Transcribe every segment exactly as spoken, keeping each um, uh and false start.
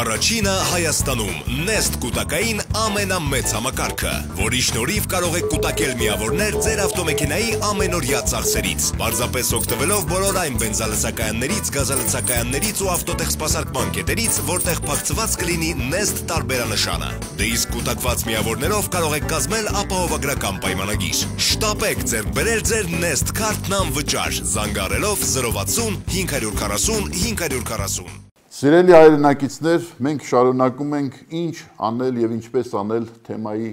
Առաջինը Հայաստանում Nest կուտակային ամենամեծ համակարգը, որի շնորհիվ կարող եք կուտակել միավորներ ձեր ավտոմեքենայի ամենօրյա ծախսերից, պարզապես օգտվելով բոլոր այն բենզալցակայաններից, գազալցակայաններից ու ավտոտեխսպասարկման կետերից, որտեղ փակցված կլինի Nest տարբերանշանը։ Դե իսկ կուտակված միավորներով կարող եք կազմել ապահովագրական պայմանագիր։ Շտապեք ձեռք բերել ձեր Nest քարտն անվճար, զանգահարելով զրո վաթսուն հինգ հարյուր քառասուն հինգ հարյուր քառասուն։ Սիրելի հայրենակիցներ, մենք շարունակում ենք ինչ անել եւ ինչպես անել թեմայի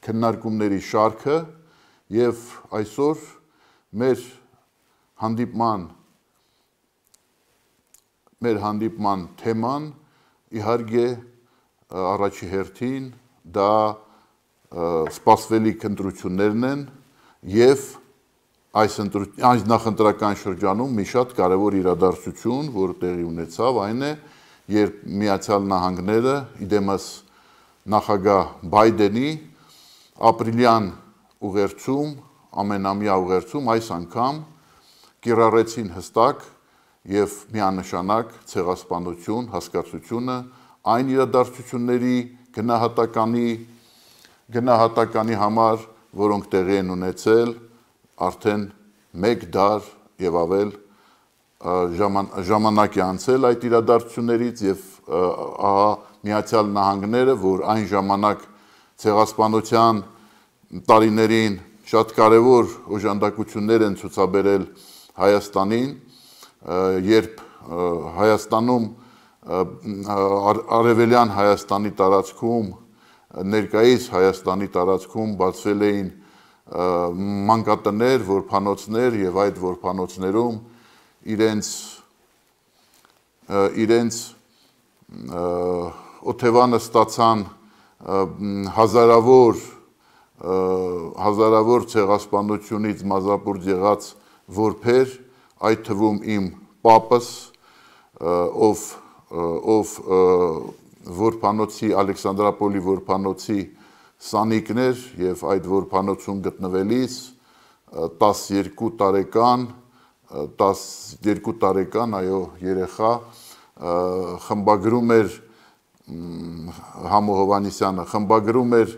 քննարկումների շարքը եւ այսօր մեր հանդիպման մեր հանդիպման թեման իհարկե առաջի հերթին դա սպասվելիք ընտրություններն են եւ այս այս նախընտրական շրջանում մի շատ կարևոր իրադարձություն, որ տեղի ունեցավ, այն է, երբ Միացյալ Նահանգները իդեմս նախագահ Բայդենի ապրիլյան ուղերձում, ամենամյա ուղերձում այս անգամ կիրառեցին հստակ եւ միանշանակ ցեղասպանություն հասկացությունը այն իրադարձությունների գնահատականի գնահատականի համար, որոնք տեղի են ունեցել արդեն մեկ դար եւ ավել ժամանակ է անցել այդ իրադարձություններից եւ ահա Միացյալ Նահանգները, որ այն ժամանակ ցեղասպանության տարիներին շատ կարևոր օժանդակություններ են ցուցաբերել Հայաստանին, երբ Հայաստանում արևելյան Հայաստանի տարածքում ներկայիս Հայաստանի տարածքում բացվել էին մանկատներ, որբանոցներ եւ այդ որբանոցներում իրենց իրենց օթևանը ստացան հազարավոր հազարավոր ցեղասպանությունից մազապուրդ եղած որբեր, այդ թվում իմ պապս, ով ով որբանոցի Ալեքսանդրապոլի որբանոցի սանիկներ եւ այդ որբանոցում գտնվելիս տասներկու տարեկան տասներկու տարեկան այո երեխա խմբագրում էր Համո Հովհաննիսյանը խմբագրում էր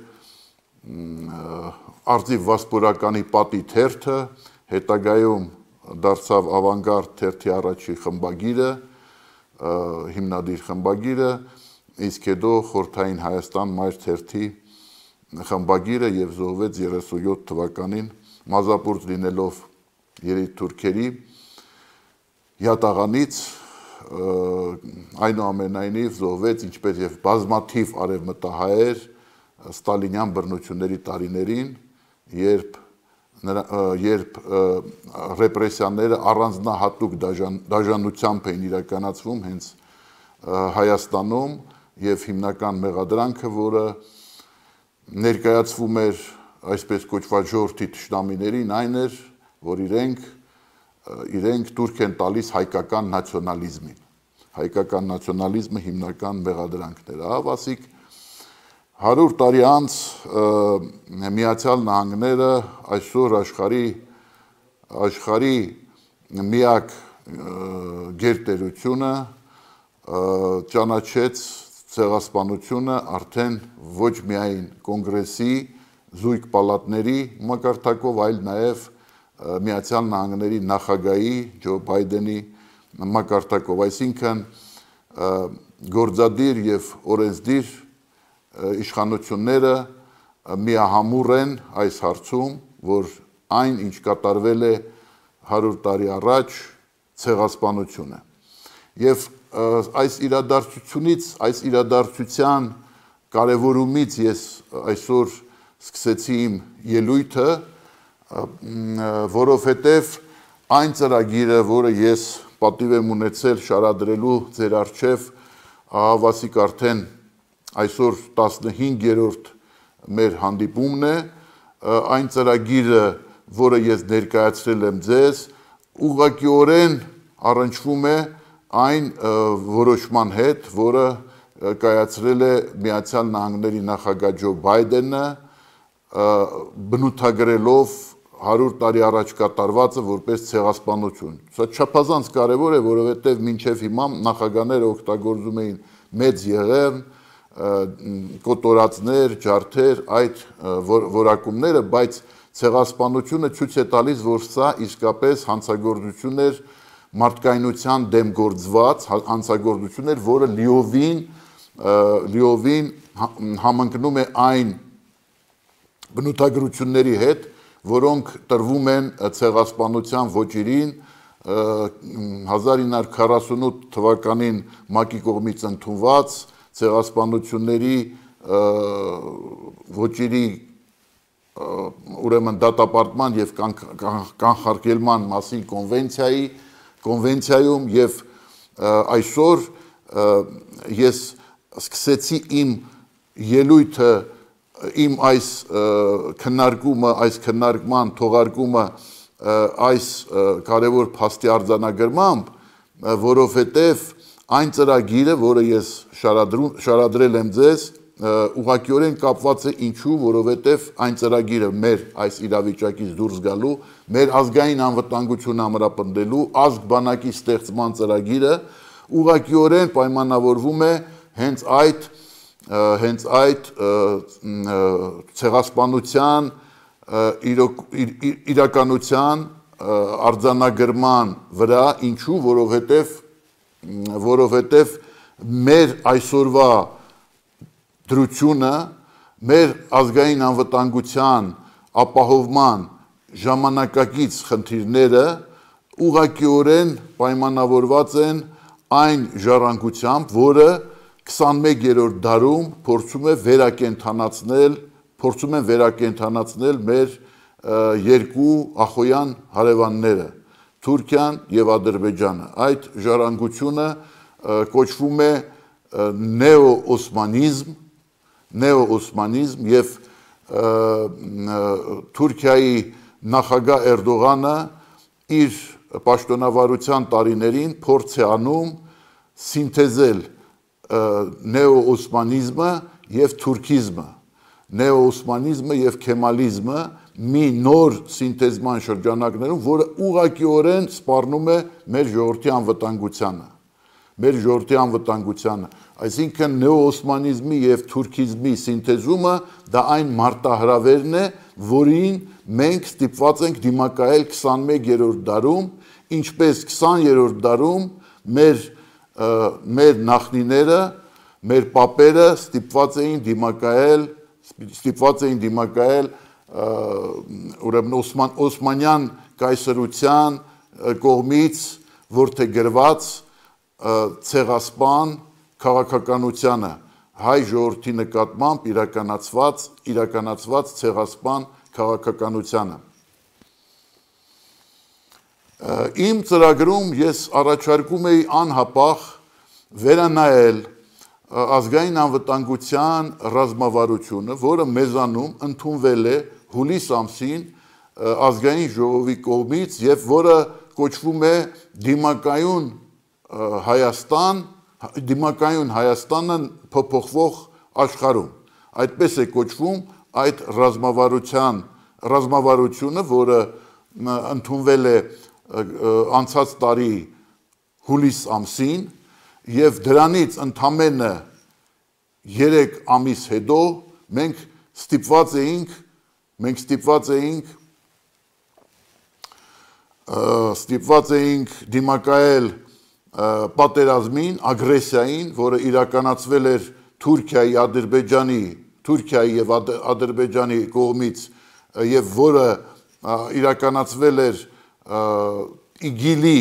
Արձիվ Վասպուրականի պատի թերթը, հետագայում դարձավ Ավանգարդ թերթի առաջի խմբագիրը, հիմնադիր խմբագիրը, իսկ հետո Խորհրդային Հայաստան մայր թերթի խմբագիրը եւ զոհվեց երեսունյոթ թվականին մազապուրդ լինելով երիտթուրքերի յատաղանից, այնուամենայնիվ զոհվեց ինչպես եւ բազմաթիվ արևմտահայեր ստալինյան բռնությունների տարիներին, երբ երբ ռեպրեսիաները առանձնահատուկ դաժանությամբ էին իրականացվում հենց Հայաստանում եւ հիմնական մեղադրանքը, որը ներկայացվում էր այսպես կոչված ժողովրդի թշնամիներին, այն էր, որ իրենք իրենք տուրք են տալիս հայկական նացիոնալիզմին։ Հայկական նացիոնալիզմը հիմնական մեղադրանքն էր։ Ահա ասիկ հարյուր տարի անց Միացյալ Նահանգները այսօր աշխարհի աշխարհի միակ գերտերությունը ճանաչեց ցեղասպանությունը արդեն ոչ միայն կոնգրեսի զույգ պալատների մակարդակով, այլ նաև Միացյալ Նահանգների նախագահի Ջո Բայդենի մակարդակով, այսինքն գործադիր եւ օրենսդիր իշխանությունները միահամուռ են այս հարցում, որ այն ինչ կատարվել է հարյուր տարի առաջ ցեղասպանություն է։ Եվ այս իրադարձությունից, այս իրադարձության կարևորումից ես այսօր սկսեցի իմ ելույթը, որովհետև այն ծրագիրը, որը ես պատիվ եմ ունեցել շարադրելու ձեր առջև, ահավասիկ արդեն այսօր տասնհինգերորդ մեր հանդիպումն է, այն ծրագիրը, որը ես ներկայացրել եմ ձեզ, ուղղակիորեն առնչվում է այն որոշման հետ, որը կայացրել է Միացյալ Նահանգների նախագահ Ջո Բայդենը, բնութագրելով հարյուր տարի առաջ կատարվածը որպես ցեղասպանություն։ Սա չափազանց կարևոր է, որովհետև մինչև հիմա նախագահները օգտագործում էին մեծ եղեռն, կոտորածներ, ջարդեր, այդ որակումները, բայց ցեղասպանությունը ցույց է տալիս, որ սա իսկապես հանցագործություն էր, մարդկայնության դեմ գործված հանցագործություն էր, որը լիովին լիովին համընկնում է այն բնութագրությունների հետ, որոնք տրվում են ցեղասպանության ոճերին հազար ինը հարյուր քառասունութ թվականին ՄԱԿ-ի կողմից ընդունված ցեղասպանությունների ոճերի ուրեմն դատապարտման եւ կանխարգելման մասին կոնվենցիայի կոնվենցիայում եւ այսօր ես սկսեցի իմ ելույթը իմ այս քննարկումը, այս քննարկման թողարկումը այս կարևոր փաստի արձանագրմամբ, որովհետև այն ծրագիրը, որը ես շարադրել եմ ձեզ, ուղղակիորեն կապված է ինչու, որովհետև այն ծրագիրը մեր այս իրավիճակից դուրս գալու, մեր ազգային անվտանգությունը ամրապնդելու, ազգ բանակի ստեղծման ծրագիրը ուղղակիորեն պայմանավորվում է հենց այդ հենց այդ ցեղասպանության իրականության արձանագրման վրա, ինչու, որովհետև որովհետև մեր այսօրվա դրությունը, մեր ազգային անվտանգության ապահովման ժամանակակից խնդիրները ուղղակիորեն պայմանավորված են այն ժառանգությամբ, որը քսանմեկերորդ դարում փորձում է վերակենդանացնել, փորձում են վերակենդանացնել մեր երկու ախոյան հարևանները, Թուրքիան եւ Ադրբեջանը։ Այդ ժառանգությունը կոչվում է նեոօսմանիզմ, նեոօսմանիզմ եւ Թուրքիայի նախագահ Էրդողանը իր պաշտոնավարության տարիներին փորձ է անում սինթեզել նեոօսմանիզմը եւ թուրքիզմը, նեոօսմանիզմը եւ քեմալիզմը մի նոր սինթեզման շրջանակներում, որը ուղղակիորեն սպառնում է մեր ժողովրդի անվտանգությանը, մեր ժողովրդի անվտանգությանը, այսինքն նեոօսմանիզմի եւ թուրքիզմի սինթեզումը դա այն մարտահրավերն է, որին մենք ստիպված ենք դիմակայել քսանմեկերորդ դարում, ինչպես քսաներորդ դարում մեր մեր նախնիները, մեր պապերը ստիպված էին դիմակայել, ստիպված էին դիմակայել ուրեմն Օսմանյան կայսրության կողմից որդեգրված ցեղասպան քաղաքականությանը, հայ ժողովրդի նկատմամբ իրականացված իրականացված ցեղասպան քաղաքականությանը։ Իմ ծրագրում ես առաջարկում էի անհապաղ վերանայել ազգային անվտանգության ռազմավարությունը, որը մեզանում ընդունվել է հուլիս ամսին ազգային ժողովի կողմից եւ որը կոչվում է դիմակայուն Հայաստան, դիմակայուն Հայաստանը փոփոխվող աշխարհում։ Այդպես է կոչվում այդ ռազմավարության ռազմավարությունը, որը ընդունվել է անցած տարի հուլիս ամսին եւ դրանից ընդամենը երեք ամիս հետո մենք ստիպված էինք մենք ստիպված էինք ստիպված էինք դիմակայել պատերազմին, ագրեսիային, որը իրականացվել էր Թուրքիայի, Ադրբեջանի, Թուրքիայի եւ Ադրբեջանի կողմից եւ որը իրականացվել էր իգիլի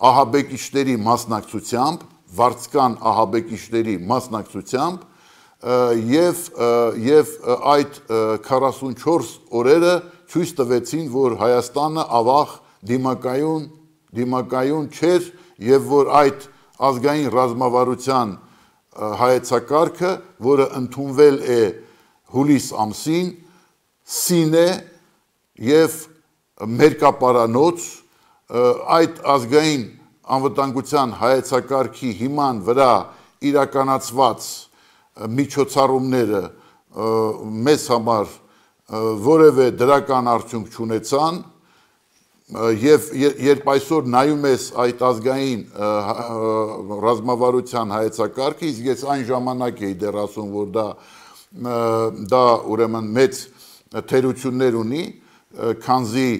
ահաբեկիչների մասնակցությամբ, վարձկան ահաբեկիչների մասնակցությամբ եւ եւ այդ քառասունչորս օրերը ցույց տվեցին, որ Հայաստանը ավաղ դիմակայուն դիմակայուն չէր եւ որ այդ ազգային ռազմավարության հայեցակարգը, որը ընդունվել է հուլիս ամսին, սին է եւ մերկապարանոց այդ ազգային անվտանգության հայեցակարգի հիման վրա իրականացված միջոցառումները մեզ համար որևէ դրական արդյունք չունեցան, Եվ երբ այսօր նայում ես այդ ազգային ռազմավարության հայեցակարգը, իսկ ես այն ժամանակ էի դեռ ասում, որ դա դա ուրեմն մեծ թերություններ ունի, քանզի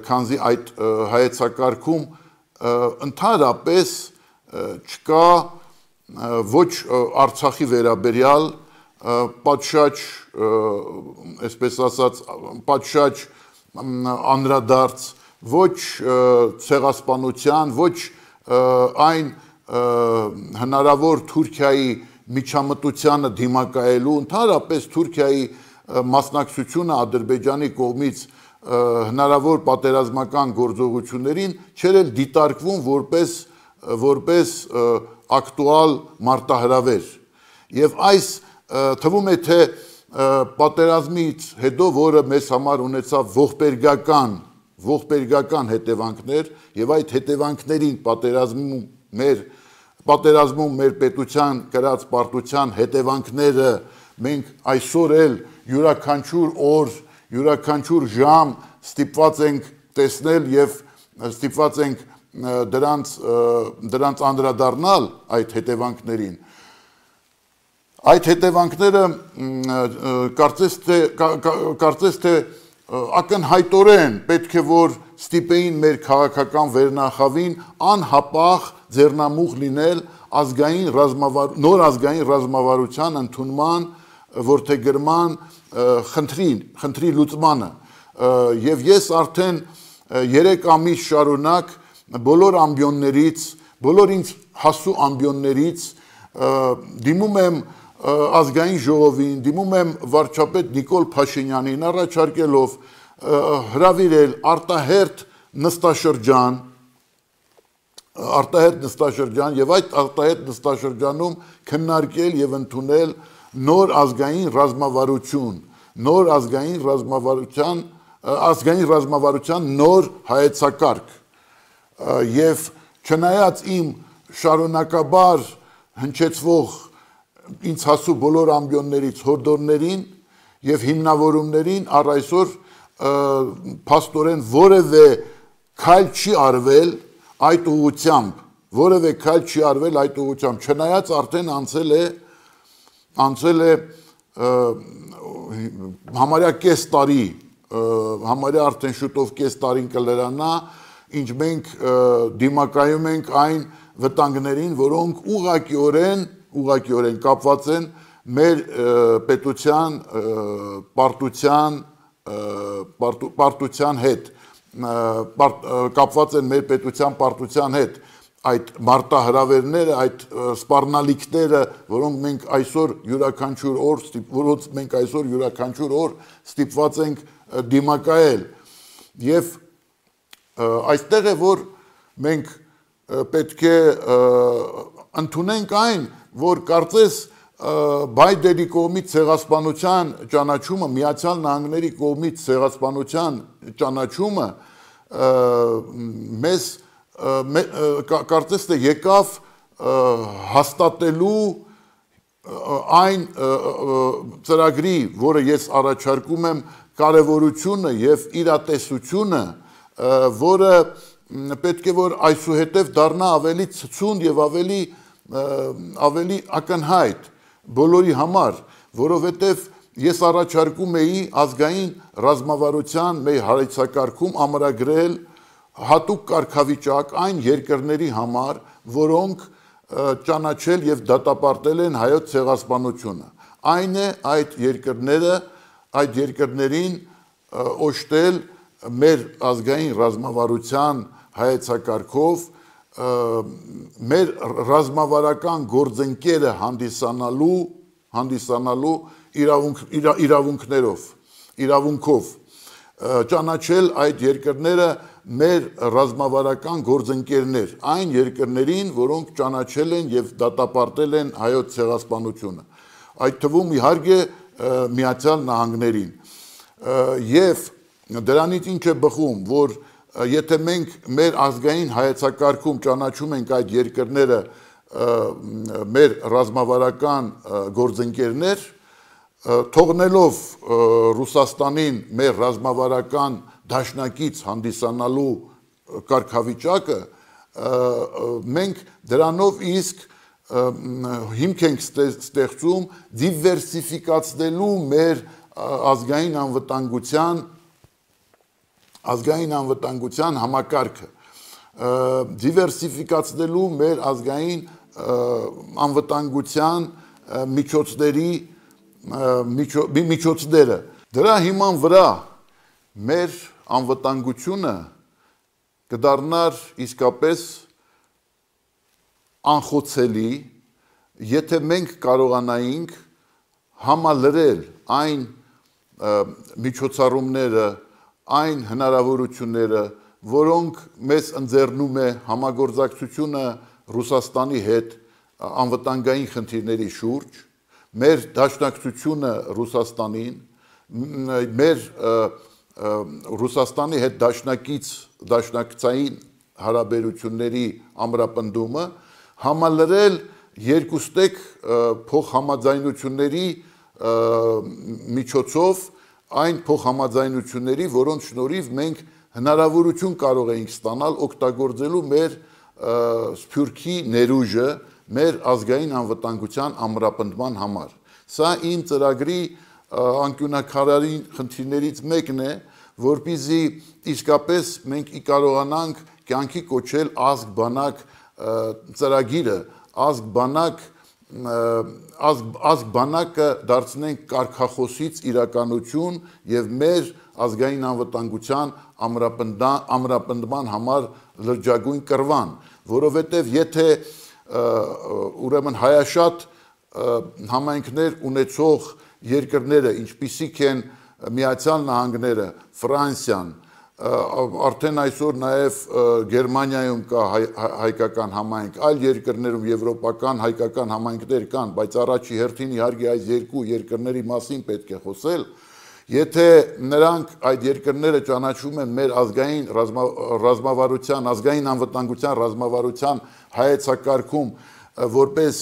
քանզի այդ հայեցակարգում ընդհանրապես չկա ոչ Արցախի վերաբերյալ պատշաճ, այսպես ասած, պատշաճ անդրադարձ, ոչ ցեղասպանության, ոչ այն հնարավոր Թուրքիայի միջամտությանը դիմակայելու, ընդհանրապես Թուրքիայի մասնակցությունը Ադրբեջանի կողմից հնարավոր պատերազմական գործողություններին չէր էլ դիտարկվում որպես որպես ակտուալ մարտահրավեր։ Եվ այս թվում է թե պատերազմից հետո, որը մեզ համար ունեցավ ողբերգական ողբերգական հետևանքներ, եւ այդ հետևանքներին պատերազմում մեր պատերազմում մեր պետության կրած պարտության հետևանքները մենք այսօր էլ յուրաքանչյուր օր, յուրաքանչյուր ժամ ստիպված ենք տեսնել եւ ստիպված ենք դրանց դրանց անդրադառնալ այդ հետևանքներին։ Այդ հետևանքները կարծես թե կարծես թե ակնհայտորեն պետք է որ ստիպեին մեր քաղաքական վերնախավին անհապաղ ձեռնամուխ լինել ազգային ռազմավար նոր ազգային ռազմավարության ընդունման որդեգրման խնդրին խնդրի լուծմանը եւ ես արդեն երեք ամիս շարունակ բոլոր ամբիոններից բոլոր ինձ հասու ամբիոններից դիմում եմ ազգային ժողովին, դիմում եմ վարչապետ Նիկոլ Փաշինյանին առաջարկելով հրավիրել արտահերթ նստաշրջան, արտահերթ նստաշրջան եւ այդ արտահերթ նստաշրջանում քննարկել եւ ընդունել նոր ազգային ռազմավարություն, նոր ազգային ռազմավարության, ազգային ռազմավարության նոր հայեցակարգ եւ չնայած իմ շարունակաբար հնչեցվող ինձ հասու բոլոր ամբիոններից հորդորներին եւ հիմնավորումներին առ այսօր փաստորեն որևէ քայլ չի արվել այդ ուղղությամբ, որևէ քայլ չի արվել այդ ուղղությամբ, չնայած արդեն անցել է անցել է համարյա կես տարի, համարյա արդեն շուտով կես տարին կլրանա, ինչ մենք դիմակայում ենք այն վտանգներին, որոնք ուղղակիորեն ուղղակիորեն կապված են մեր պետության պարտության պարտության հետ կապված են մեր պետության պարտության հետ այդ մարտահրավերները, այդ սպառնալիքները, որոնք մենք այսօր յուրաքանչյուր օր որոնց մենք այսօր յուրաքանչյուր օր ստիպված ենք դիմակայել եւ այստեղ է որ մենք պետք է ընդունենք այն, որ կարծես Բայդենի կողմից ցեղասպանության ճանաչումը, Միացյալ Նահանգների կողմից ցեղասպանության ճանաչումը մեզ կարծես թե եկավ հաստատելու այն ծրագրի, որը ես առաջարկում եմ կարևորությունը եւ իրատեսությունը, որը պետք է որ այսուհետև դառնա ավելի ցցուն եւ ավելի ավելի ակնհայտ բոլորի համար, որովհետև ես առաջարկում էի ազգային ռազմավարության մեր հայեցակարգում ամրագրել հատուկ կարգավիճակ այն երկրների համար, որոնք ճանաչել եւ դատապարտել են հայոց ցեղասպանությունը։ Այն է այդ երկրները, այդ երկրներին օժտել մեր ազգային ռազմավարության հայեցակարգով մեր ռազմավարական գործընկերը հանդիսանալու հանդիսանալու իրավունք իրավունքներով իրավունքով ճանաչել այդ երկրները մեր ռազմավարական գործընկերներ այն երկրներին որոնք ճանաչել են եւ դատապարտել են հայոց ցեղասպանությունը այդ թվում իհարկե Միացյալ Նահանգներին եւ դրանից ինչ է բխում որ եթե մենք մեր ազգային հայեցակարգում ճանաչում ենք այդ երկրները մեր ռազմավարական գործընկերներ թողնելով Ռուսաստանին մեր ռազմավարական դաշնակից հանդիսանալու կարգավիճակը մենք դրանով իսկ հիմք ենք ստեղծում դիվերսիֆիկացնելու մեր ազգային անվտանգության ազգային անվտանգության համակարգը դիվերսիֆիկացնելու մեր ազգային անվտանգության միջոցների միջոցները դրա հիման վրա մեր անվտանգությունը կդառնար իսկապես անխոցելի, եթե մենք կարողանայինք համալրել այն միջոցառումները, այն հնարավորությունները, որոնք մեզ ընձեռնում է համագործակցությունը Ռուսաստանի հետ անվտանգային խնդիրների շուրջ, մեր դաշնակցությունը Ռուսաստանին, մեր Ռուսաստանի հետ դաշնակից դաշնակցային հարաբերությունների ամրապնդումը, համալրել երկուստեք փոխհամաձայնությունների միջոցով այն փոխհամաձայնությունների, որոնց շնորհիվ մենք հնարավորություն կարող էինք ստանալ օգտագործելու մեր սփյուռքի ներուժը մեր ազգային անվտանգության ամրապնդման համար։ Սա իմ ծրագրի անկյունակարարին խնդիրներից մեկն է, որպեսզի իսկապես մենք կարողանանք կյանքի կոչել ազգ բանակ ծրագիրը, ազգ բանակ ազգ բանակը դարձնենք կարգախոսից իրականություն եւ մեր ազգային անվտանգության ամրապնդման համար լրջագույն կռվան, որովհետեւ եթե ուրեմն հայաշատ համայնքներ ունեցող երկրները, ինչպիսիք են Միացյալ Նահանգները, Ֆրանսիան, արդեն այսօր նաև Գերմանիայում կա հայկական համայնք, այլ երկրներում եվրոպական հայկական համայնքներ կան, բայց առաջի հերթին իհարկե այս երկու երկրների մասին պետք է խոսել, եթե նրանք այդ երկրները ճանաչում են մեր ազգային ռազմավարության, ազգային անվտանգության ռազմավարության հայեցակարգում որպես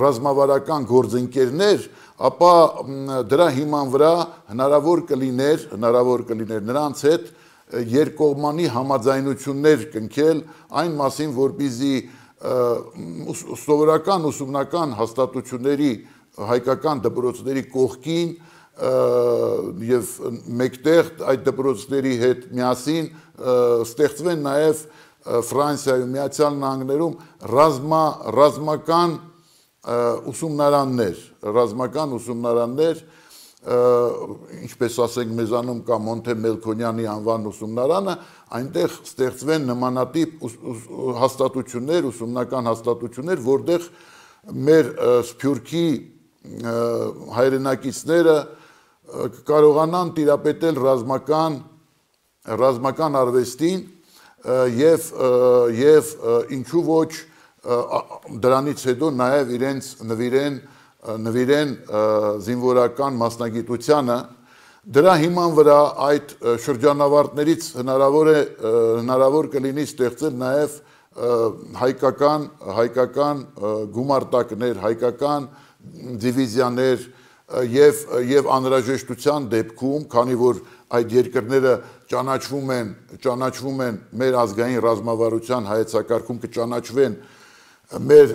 ռազմավարական գործընկերներ, ապա դրա հիման վրա հնարավոր կլիներ, հնարավոր կլիներ նրանց հետ երկկողմանի համաձայնություններ կնքել այն մասին, որպեսզի սովորական ուսումնական հաստատությունների հայկական դպրոցների կողքին եւ մեկտեղ այդ դպրոցների հետ միասին ստեղծվեն նաեւ Ֆրանսիայում, Միացյալ Նահանգներում ռազմա ռազմական ուսումնարաններ, ռազմական ուսումնարաններ, ինչպես ասենք մեզանում կա Մոնթե Մելքոնյանի անվան ուսումնարանը, այնտեղ ստեղծվեն նմանատիպ հաստատություններ, ուսումնական հաստատություններ, որտեղ մեր սփյուռքի հայրենակիցները կարողանան տիրապետել ռազմական ռազմական արվեստին եւ եւ ինչու ոչ դրանից հետո նաև իրենց նվիրեն նվիրեն զինվորական մասնագիտությանը դրա հիման վրա այդ շրջանավարտներից հնարավոր է հնարավոր կլինի ստեղծել նաև հայկական հայկական գումարտակներ, հայկական դիվիզիաներ եւ եւ անհրաժեշտության դեպքում, քանի որ այդ երկրները ճանաչվում են ճանաչվում են մեր ազգային ռազմավարության հայեցակարգում կճանաչվեն մեր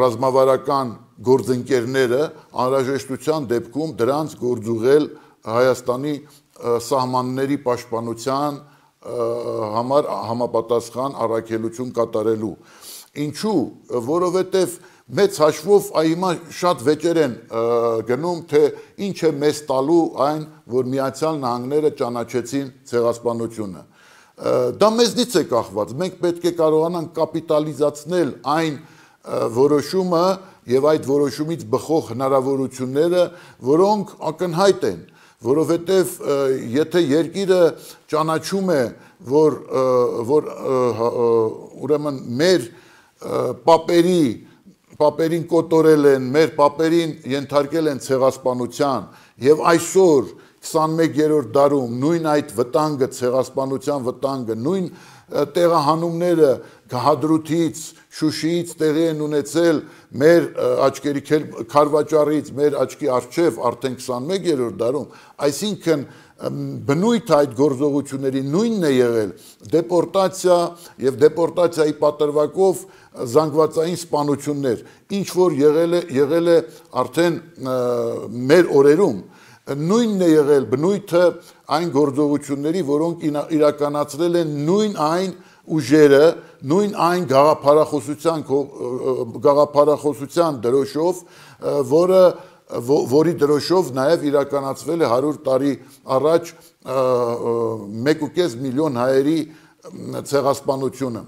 ռազմավարական գործընկերները անհրաժեշտության դեպքում դրանց գործուղել Հայաստանի սահմանների պաշտպանության համար համապատասխան առաքելություն կատարելու։ Ինչու, որովհետև մեծ հաշվով հիմա շատ վեճեր են գնում, թե ինչ է մեզ տալու այն, որ Միացյալ Նահանգները ճանաչեցին ցեղասպանությունը։ Դա մեզնից է կախված, մենք պետք է կարողանանք կապիտալիզացնել այն որոշումը եւ այդ որոշումից բխող հնարավորությունները, որոնք ակնհայտ են, որովհետեւ եթե երկիրը ճանաչում է, որ որ ուրեմն մեր պապերի պապերին կոտորել են, մեր պապերին ենթարկել են ցեղասպանության եւ այսօր քսանմեկերորդ դարում նույն այդ վտանգը, ցեղասպանության վտանգը, նույն տեղահանումները Հադրութից, Շուշիից տեղի են ունեցել մեր աչքերի Քարվաճառից, մեր աչքի առջև արդեն քսանմեկերորդ դարում, այսինքն բնույթ այդ գործողությունների նույնն է եղել դեպորտացիա եւ դեպորտացիայի պատրվակով զանգվածային սպանություններ, ինչ որ եղել է եղել է արդեն մեր օրերում նույնն է եղել բնույթը այն գործողությունների, որոնք իրականացրել են նույն այն ուժերը, նույն այն գաղափարախոսության գաղափարախոսության դրոշով, որը որի դրոշով նաև իրականացվել է հարյուր տարի առաջ մեկ ու կես միլիոն հայերի ցեղասպանությունը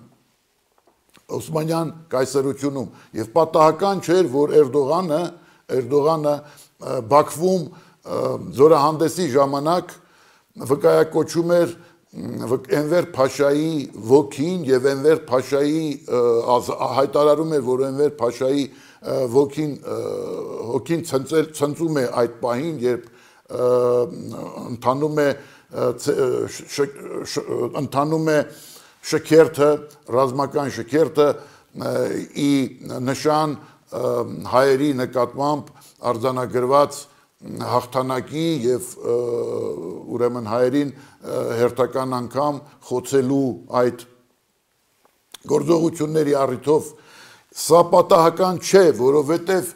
Օսմանյան կայսրությունում եւ պատահական չէր, որ Էրդողանը Էրդողանը Բաքվում զորահանդեսի ժամանակ վկայակոչում էր Էնվեր Փաշայի ոգին եւ Էնվեր Փաշայի հայտարարում էր, որ Էնվեր Փաշայի ոգին հոգին ցնծում է այդ պահին, երբ ընթանում է ընթանում է շքերթը, ռազմական շքերթը ի նշան հայերի նկատմամբ արձանագրված հաղթանակի եւ ուրեմն հայերին հերթական անգամ խոցելու այդ գործողությունների առիթով սա պատահական չէ, որովհետեւ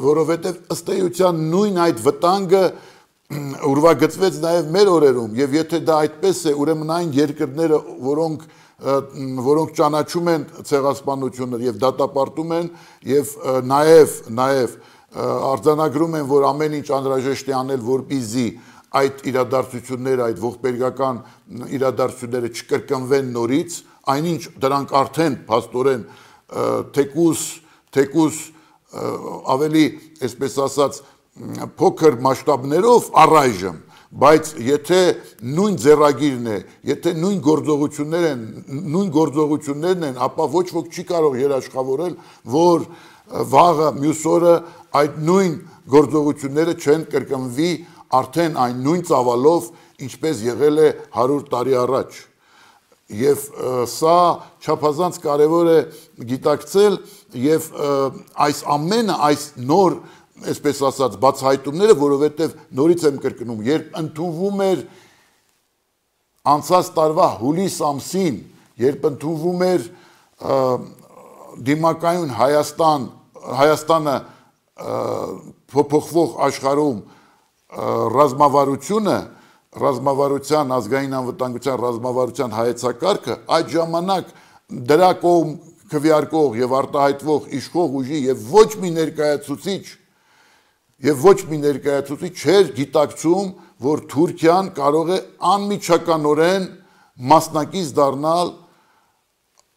որովհետեւ ըստ էության նույն այդ վտանգը ուրվագծվեց նաև մեր օրերում եւ եթե դա այդպես է, ուրեմն այն երկրները, որոնք որոնք ճանաչում են ցեղասպանությունները եւ դատապարտում են եւ նաև նաև արձանագրում են, որ ամեն ինչ անհրաժեշտ է անել, որպեսզի այդ իրադարձությունները, այդ ողբերգական իրադարձությունները չկրկնվեն նորից, այնինչ դրանք արդեն փաստորեն թեկուս թեկուս ավելի, այսպես ասած, փոքր մասշտաբներով առայժմ, բայց եթե նույն ձեռագիրն է, եթե նույն գործողություններ են, նույն գործողություններն են, ապա ոչ ոք չի կարող երաշխավորել, որ վաղը մյուս օրը այդ նույն գործողությունները չեն կրկնվի արդեն այն նույն ծավալով, ինչպես եղել է հարյուր տարի առաջ։ Եվ սա չափազանց կարևոր է գիտակցել եւ այս ամենը, այս նոր, այսպես ասած, բացահայտումները, որովհետեւ նորից եմ կրկնում, երբ ընդունվում էր անցած տարվա հուլիս ամսին, երբ ընդունվում էր դիմակայուն Հայաստան, Հայաստանը փոփոխվող աշխարհում ռազմավարությունը, ռազմավարության ազգային անվտանգության ռազմավարության հայեցակարգը այդ ժամանակ դրա կողմ քվեարկող եւ արտահայտվող իշխող ուժի եւ ոչ մի ներկայացուցիչ եւ ոչ մի ներկայացուցիչ չէր գիտակցում, որ Թուրքիան կարող է անմիջականորեն մասնակից դառնալ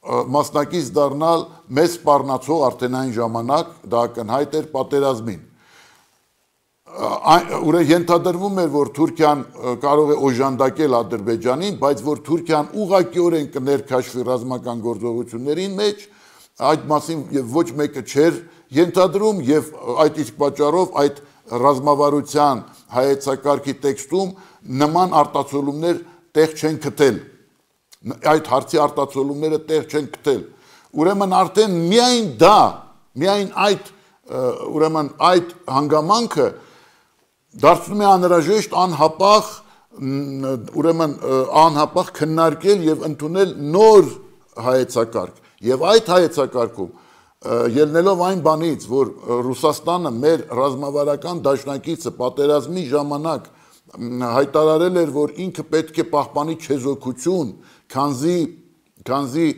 մասնակից դառնալ մեծ սպառնացող արդեն այն ժամանակ դա ակնհայտ էր պատերազմին։ Ուրեմն ենթադրվում էր, որ Թուրքիան կարող է օժանդակել Ադրբեջանին, բայց որ Թուրքիան ուղղակիորեն կներքաշվի ռազմական գործողությունների մեջ, այդ մասին եւ ոչ մեկը չէր ենթադրում եւ այդ իսկ պատճառով այդ ռազմավարության հայեցակարգի տեքստում նման արտացոլումներ տեղ չեն գտել։ Այդ հարցի արտացոլումները տեղ չեն գտել։ Ուրեմն արդեն միայն դա, միայն այդ ուրեմն այդ հանգամանքը դարձնում է անհրաժեշտ անհապաղ ուրեմն անհապաղ քննարկել եւ ընդունել նոր հայեցակարգ։ Եվ այդ հայեցակարգում ելնելով այն բանից, որ Ռուսաստանը մեր ռազմավարական դաշնակիցը պատերազմի ժամանակ հայտարարել էր, որ ինքը պետք է պահպանի չեզոքություն, քանզի քանզի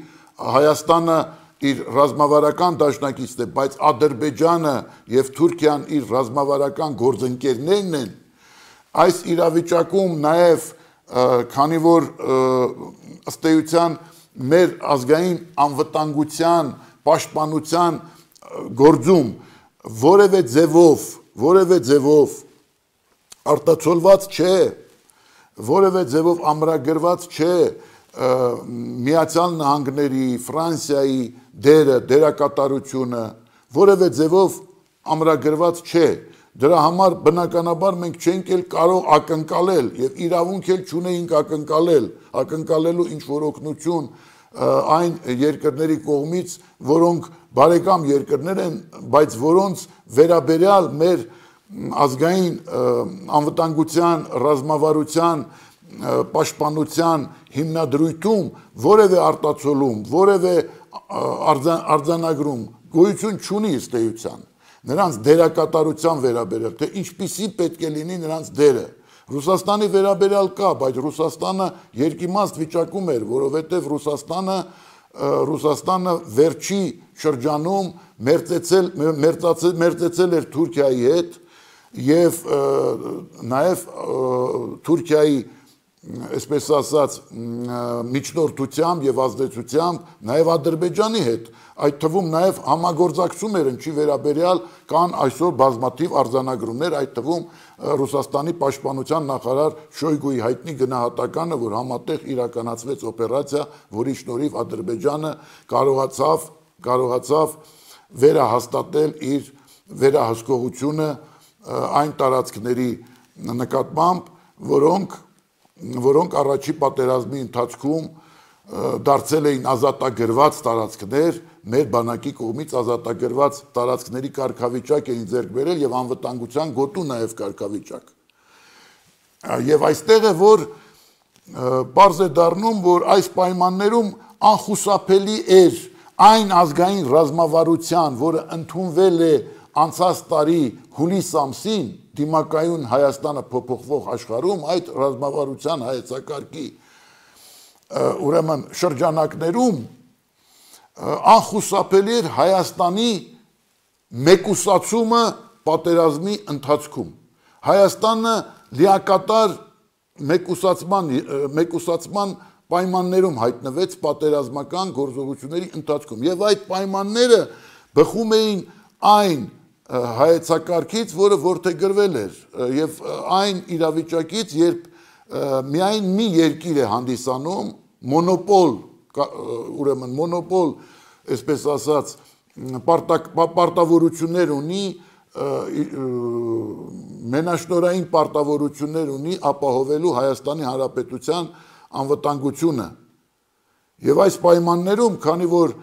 Հայաստանը իր ռազմավարական դաշնակիցն է, բայց Ադրբեջանը եւ Թուրքիան իր ռազմավարական գործընկերներն են, այս իրավիճակում նաեւ քանի որ ըստ էության մեր ազգային անվտանգության պաշտպանության գործում որևէ ձևով, որևէ ձևով արտացոլված չէ, որևէ ձևով ամրագրված չէ Միացյալ Նահանգների, Ֆրանսիայի դերը, դերակատարությունը, որևէ ձևով ամրագրված չէ, Դրա համար բնականաբար մենք չենք էլ կարող ակնկալել եւ իրավունք էլ չունեինք ակնկալել, ակնկալելու ինչ որ օգնություն այն երկրների կողմից, որոնք բարեկամ երկրներ են, բայց որոնց վերաբերյալ մեր ազգային անվտանգության, ռազմավարության, պաշտպանության հիմնադրույթում որևէ արտացոլում, որևէ արձանագրում գոյություն չունի ըստ էության։ Նրանց դերակատարության վերաբերյալ, թե ինչպիսի պետք է լինի նրանց դերը։ Ռուսաստանի վերաբերյալ կա, բայց Ռուսաստանը երկիմաստ վիճակում էր, որովհետև Ռուսաստանը Ռուսաստանը վերջի շրջանում մերձեցել մերձեցել էր Թուրքիայի հետ եւ նաեւ Թուրքիայի այսպես ասած միջնորդությամբ եւ ազդեցությամբ նաեւ Ադրբեջանի հետ, այդ թվում նաեւ համագործակցում էր ինչի վերաբերյալ կան այսօր բազմաթիվ արձանագրումներ, այդ թվում Ռուսաստանի պաշտպանության նախարար Շոյգուի հայտնի գնահատականը, որ համատեղ իրականացվեց օպերացիա, որի շնորհիվ Ադրբեջանը կարողացավ կարողացավ վերահաստատել իր վերահսկողությունը այն տարածքների նկատմամբ, որոնք որոնք առաջի պատերազմի ընթացքում դարձել էին ազատագրված տարածքներ, մեր բանակի կողմից ազատագրված տարածքների կարգավիճակ էին ձեռք բերել եւ անվտանգության գոտու նաեւ կարգավիճակ։ Եվ այստեղ է, որ պարզ է դառնում, որ այս պայմաններում անխուսափելի էր այն ազգային ռազմավարության, որը ընդունվել է անցած տարի հուլիս ամսին դիմակայուն Հայաստանը փոփոխվող աշխարհում, այդ ռազմավարության հայեցակարգի ուրեմն շրջանակներում անխուսափելի էր Հայաստանի մեկուսացումը պատերազմի ընթացքում։ Հայաստանը լիակատար մեկուսացման մեկուսացման պայմաններում հայտնվեց պատերազմական գործողությունների ընթացքում եւ այդ պայմանները բխում էին այն հայեցակարգից, որը որդեգրվել էր եւ այն իրավիճակից, երբ միայն մի երկիր է հանդիսանում մոնոպոլ, ուրեմն մոնոպոլ, այսպես ասած, պարտավորություններ ունի, մենաշնորհային պարտավորություններ ունի ապահովելու Հայաստանի Հանրապետության անվտանգությունը։ Եվ այս պայմաններում, քանի որ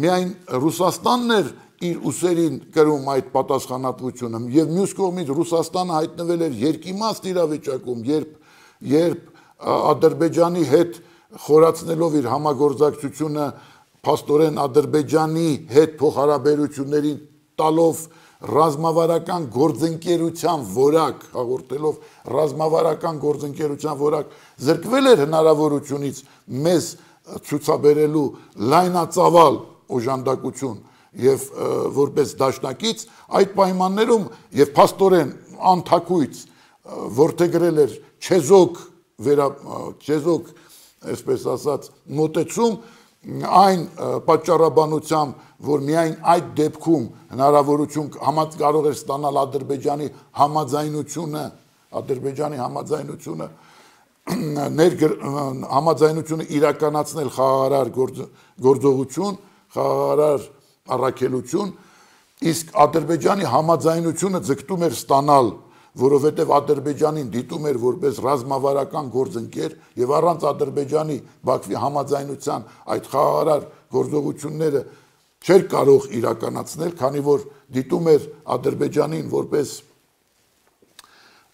միայն Ռուսաստանն էր իր ուսերին կրում այդ պատասխանատվությունը եւ մյուս կողմից Ռուսաստանը հայտնվել էր երկիմաստ իրավիճակում, երբ երբ Ադրբեջանի հետ խորացնելով իր համագործակցությունը փաստորեն Ադրբեջանի հետ փոխհարաբերություններին տալով ռազմավարական գործընկերության որակ, հաղորդելով ռազմավարական գործընկերության որակ, զրկվել էր հնարավորությունից մեզ ցուցաբերելու լայնածավալ օժանդակություն եւ որպես դաշնակից այդ պայմաններում եւ փաստորեն անթակույց որդեգրել էր չեզոք վերա չեզոք այսպես ասած մոտեցում այն պատճառաբանությամբ, որ միայն այդ դեպքում հնարավորություն համաձ կարող էր ստանալ Ադրբեջանի համաձայնությունը, Ադրբեջանի համաձայնությունը ներգր համաձայնությունը իրականացնել խաղաղարար գործողություն, խաղաղարար առաքելություն, իսկ Ադրբեջանի համաձայնությունը ձգտում էր ստանալ, որովհետև Ադրբեջանին դիտում էր որպես ռազմավարական գործընկեր եւ առանց Ադրբեջանի Բաքվի համաձայնության այդ խաղաղարար գործողությունները չէր կարող իրականացնել, քանի որ դիտում էր Ադրբեջանին որպես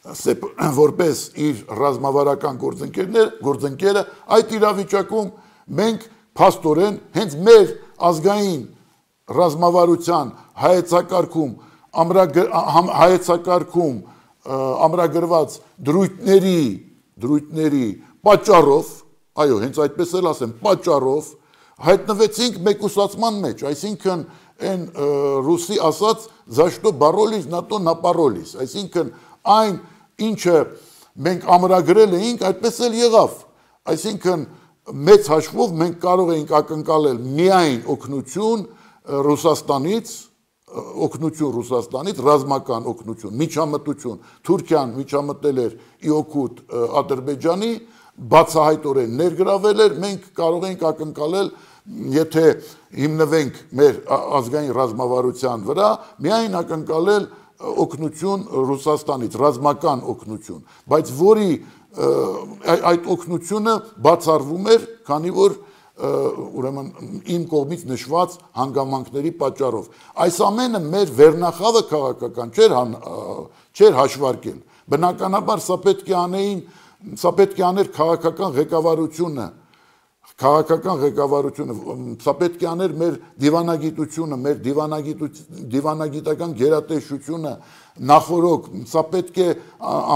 որպես իր ռազմավարական գործընկերներ, գործընկերը, այդ իրավիճակում մենք փաստորեն հենց մեր ազգային ռազմավարության հայեցակարգում հայեցակարգում ամրագրված դրույթների դրույթների պատճառով, այո, հենց այդպես էլ ասեմ, պատճառով հայտնվեցինք մեկուսացման մեջ, այսինքն այն ռուսի ասած «за что боролись, на то напоролись», այսինքն այն ինչը մենք ամրագրել էինք, այդպես էլ եղավ, այսինքն մեծ հաշվով մենք կարող էինք ակնկալել միայն օգնություն Ռուսաստանից, օգնություն Ռուսաստանից, ռազմական օգնություն, միջամտություն, Թուրքիան միջամտել էր ի օգուտ Ադրբեջանի, բացահայտորեն ներգրավել էր, մենք կարող ենք ակնկալել, եթե հիմնվենք մեր ազգային ռազմավարության վրա, միայն ակնկալել օգնություն Ռուսաստանից, ռազմական օգնություն, բայց որի այդ օգնությունը բացառվում էր, քանի որ ուրեմն իմ կողմից նշված հանգամանքների պատճառով։ Այս ամենը մեր վերնախավը քաղաքական չէր չէր հաշվարկել։ Բնականաբար սա պետք է անեին, սա պետք է աներ քաղաքական ղեկավարությունը, քաղաքական ղեկավարությունը, սա պետք է աներ մեր դիվանագիտությունը, մեր դիվանագիտական գերատեսչությունը նախորոք, սա պետք է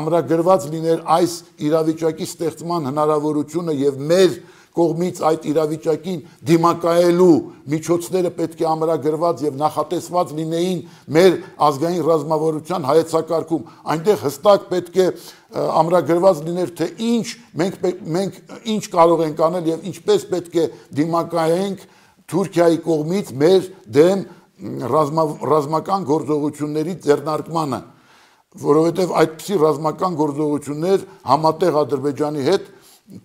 ամրագրված լիներ այս իրավիճակի ստեղծման հնարավորությունը եւ մեր կողմից այդ իրավիճակին դիմակայելու միջոցները պետք է ամրագրված եւ նախատեսված լինեին մեր ազգային ռազմավարության հայեցակարգում, այնտեղ հստակ պետք է ամրագրված լիներ, թե ինչ մենք մենք ինչ կարող ենք անել եւ ինչպես պետք է դիմակայենք Թուրքիայի կողմից մեր դեմ ռազմական գործողությունների ձեռնարկմանը, որովհետեւ այդպիսի ռազմական գործողություններ համատեղ Ադրբեջանի հետ